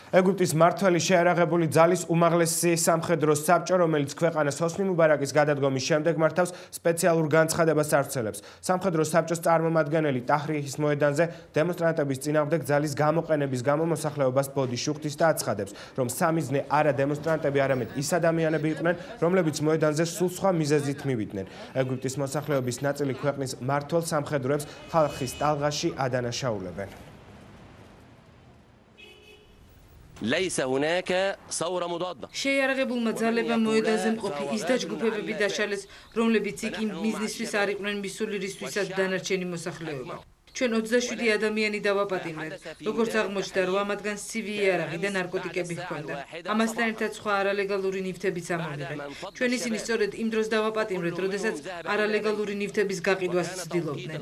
ეგვიპტის მმართველი შეერაღებული ძალის უმაღლესი სამხედრო საბჭო, რომელიც ქვეყანას ჰოსნი მუბარაკის გადადგომის შემდეგ მართავს სპეციალურ განცხადებას ავრცელებს. სამხედრო საბჭოს წარმომადგენელი ტაჰრირის მოედანზე დემონსტრანტების წინააღმდეგ ძალის გამოყენების გამო მოსახლეობას ბოდიშს უხდის და აცხადებს, რომ სამიზნე არა დემონსტრანტები, არამედ ის ადამიანები იყვნენ, რომლებიც მოედანზე სულ სხვა მიზეზით მივიდნენ. ეგვიპტის მოსახლეობის ნაწილი ქვეყნის მმართველ სამხედროებს ხალხის ტალღაში ადანაშაულებენ. შეიარაღებულმა ძალებმა მოედანზე მყოფი ის დაჯგუფებები დაშალეს, რომლებიც იქ იმ მიზნისთვის არ იყვნენ მისული, რისთვისაც დანარჩენი მოსახლეობა. ჩვენ 27 ადამიანი დავაპატიმრეთ, როგორც აღმოჩნდა, 8 მათგანს ცივი იარაღი და ნარკოტიკები ჰქონდა. ამასთან ერთად სხვა არალეგალური ნივთებიც ამოვიღეთ. ჩვენ ისინი სწორედ იმ დროს დავაპატიმრეთ, როდესაც არალეგალური ნივთების გაყიდვას ცდილობდნენ.